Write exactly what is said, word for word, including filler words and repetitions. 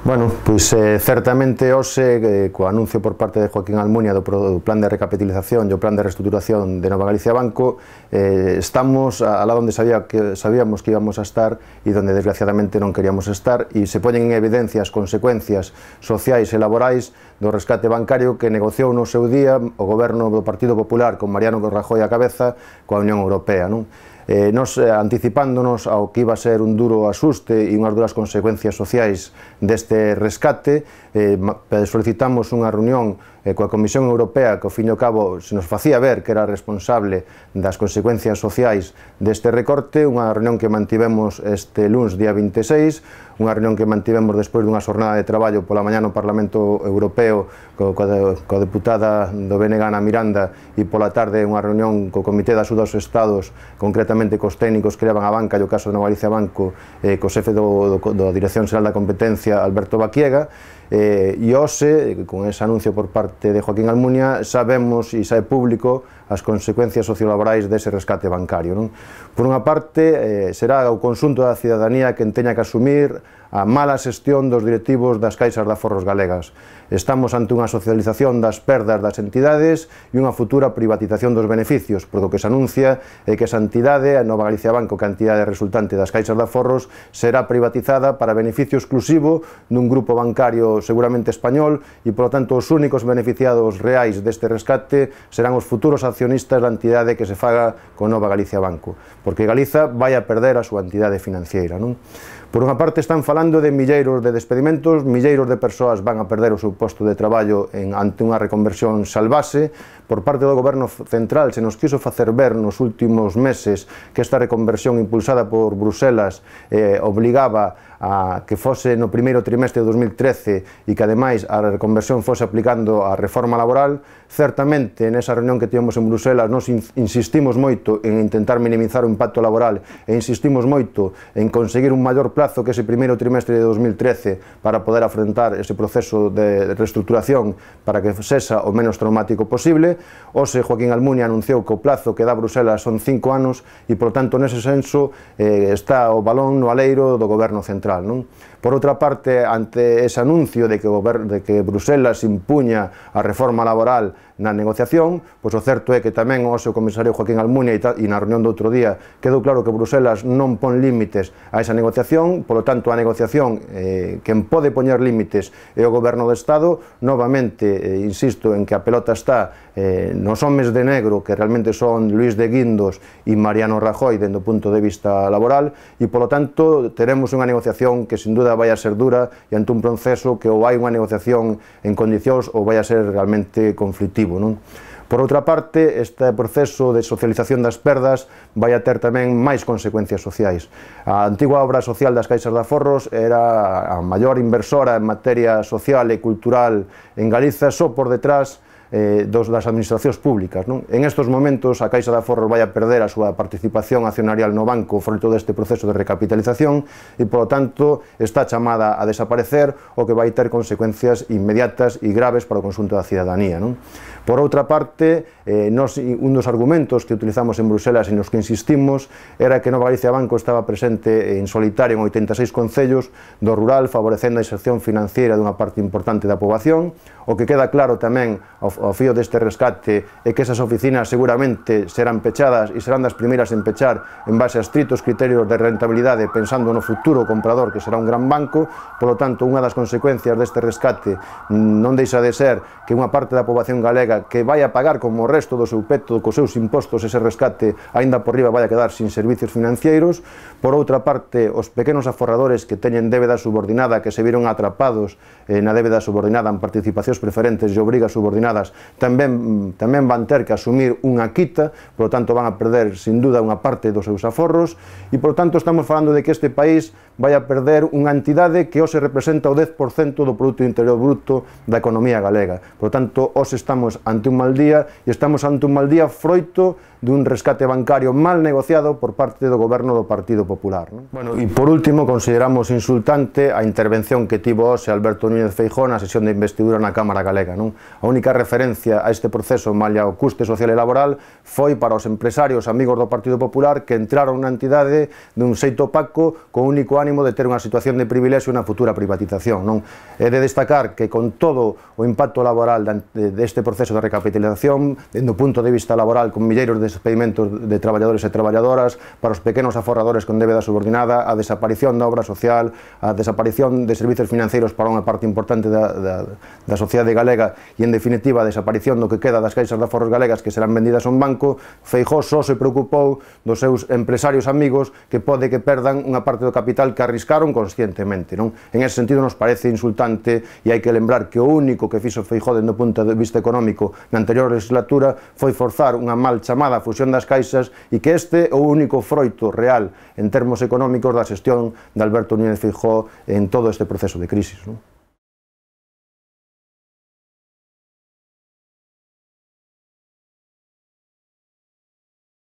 Bueno, pois eh, certamente hoxe, eh, co anuncio por parte de Joaquín Almunia do, do plan de recapitalización e o plan de reestructuración de Nova Galicia Banco, eh, estamos a, a lá onde sabía que, sabíamos que íbamos a estar e onde desgraciadamente non queríamos estar, e se poñen en evidencia as consecuencias sociais e laborais do rescate bancario que negociou no seu día o goberno do Partido Popular con Mariano Rajoy á cabeza coa Unión Europea, non? Eh, nos eh, anticipándonos ao que iba a ser un duro asuste e unhas duras consecuencias sociais deste rescate, eh, solicitamos unha reunión eh, coa Comisión Europea que ao fin e ao cabo se nos facía ver que era responsable das consecuencias sociais deste recorte, unha reunión que mantivemos este luns día vinte e seis, unha reunión que mantivemos despois dunha xornada de traballo pola mañá no Parlamento Europeo co, coa, coa deputada do B N G Ana Miranda e pola tarde unha reunión co Comité de Axuda aos Estados, concretamente cos técnicos que levan a banca e o caso de Nova Galicia Banco, eh, co xefe do, do, da Dirección Xeral da Competencia, Alberto Baquiega, eh, e hoxe, con ese anuncio por parte de Joaquín Almunia, sabemos e sae público as consecuencias sociolaborais dese rescate bancario, non? Por unha parte, eh, será o conxunto da cidadanía quen teña que asumir a mala xestión dos directivos das caixas de aforros galegas. Estamos ante unha socialización das perdas das entidades e unha futura privatización dos beneficios, porque o que se anuncia é que esa entidade, a Nova Galicia Banco, que a entidade resultante das caixas de aforros, será privatizada para beneficio exclusivo dun grupo bancario seguramente español e, polo tanto, os únicos beneficiados reais deste rescate serán os futuros accionistas da entidade que se faga con Nova Galicia Banco, porque Galiza vai a perder a súa entidade financiera, non? Por unha parte están falando de milleiros de despedimentos, milleiros de persoas van a perder o seu posto de traballo en, ante unha reconversión salvase. Por parte do Goberno Central se nos quiso facer ver nos últimos meses que esta reconversión impulsada por Bruselas eh, obligaba a que fose no primeiro trimestre de dos mil trece e que ademais a reconversión fose aplicando a reforma laboral. Certamente nesa reunión que tivemos en Bruselas nos insistimos moito en intentar minimizar o impacto laboral e insistimos moito en conseguir un maior plazo que ese primeiro trimestre de dos mil trece para poder afrontar ese proceso de reestructuración para que sexa o menos traumático posible. Hoxe Joaquín Almunia anunciou que o plazo que dá Bruselas son cinco anos e, por tanto, nese senso eh, está o balón no aleiro do Goberno Central, non? Por outra parte, ante ese anuncio de que, o de que Bruselas impuña a reforma laboral na negociación, pois o certo é que tamén o seu comisario Joaquín Almunia e na reunión do outro día quedou claro que Bruselas non pon límites a esa negociación, polo tanto a negociación eh, quen pode poñer límites é o Goberno do Estado. Novamente, eh, insisto en que a pelota está eh, nos homes de negro que realmente son Luís de Guindos e Mariano Rajoy dende o punto de vista laboral e polo tanto teremos unha negociación que sin duda vai a ser dura e ante un proceso que ou hai unha negociación en condicións ou vai a ser realmente conflictivo, non? Por outra parte, este proceso de socialización das perdas vai a ter tamén máis consecuencias sociais. A antigua obra social das caixas de aforros era a maior inversora en materia social e cultural en Galiza, só por detrás Eh, dos, das administracións públicas, non? En estes momentos a Caixa de Aforros vai a perder a súa participación accionarial no banco froito deste proceso de recapitalización e, polo tanto, está chamada a desaparecer, o que vai ter consecuencias inmediatas e graves para o conxunto da cidadanía, non? Por outra parte, eh, nos, un dos argumentos que utilizamos en Bruselas e nos que insistimos era que Nova Galicia Banco estaba presente en solitario en oitenta e seis concellos do rural, favorecendo a inserción financiera dunha parte importante da poboación. O que queda claro tamén ao, ao fío deste rescate é que esas oficinas seguramente serán pechadas e serán das primeiras en pechar en base a estritos criterios de rentabilidade, pensando no futuro comprador que será un gran banco. Polo tanto, unha das consecuencias deste rescate non deixa de ser que unha parte da poboación galega que vai a pagar como o resto do seu peto cos seus impostos ese rescate aínda por riba vai a quedar sin servicios financeiros. Por outra parte, os pequenos aforradores que teñen débeda subordinada, que se viron atrapados eh, na débeda subordinada en participacións preferentes e obrigas subordinadas, tamén, tamén van ter que asumir unha quita, por lo tanto van a perder sin duda unha parte dos seus aforros e, por tanto, estamos falando de que este país vai a perder unha entidade que hoxe representa o dez por cento do Produto Interior Bruto da economía galega. Por tanto, hoxe estamos ante un mal día e estamos ante un mal día froito dun rescate bancario mal negociado por parte do goberno do Partido Popular. Non? Bueno, e por último, consideramos insultante a intervención que tivo hoxe Alberto Núñez Feijóo na sesión de investidura na Cámara Galega. Non? A única referencia a este proceso malia o custe social e laboral foi para os empresarios amigos do Partido Popular que entraron na entidade dun xeito opaco co único ánimo de ter unha situación de privilexio na futura privatización. Non? É de destacar que con todo o impacto laboral deste proceso de recapitalización, dende o punto de vista laboral, con milleiros de despedimentos de traballadores e traballadoras, para os pequenos aforradores con débeda subordinada, a desaparición da obra social, a desaparición de servizos financeiros para unha parte importante da, da, da sociedade galega e, en definitiva, a desaparición do que queda das caixas de aforros galegas que serán vendidas a un banco, Feijóo só se preocupou dos seus empresarios amigos que pode que perdan unha parte do capital que arriscaron conscientemente. Non? En ese sentido nos parece insultante e hai que lembrar que o único que fixo Feijóo dende o punto de vista económico na anterior legislatura foi forzar unha mal chamada fusión das caixas e que este é o único froito real en termos económicos da xestión de Alberto Núñez Feijóo en todo este proceso de crisis. Non?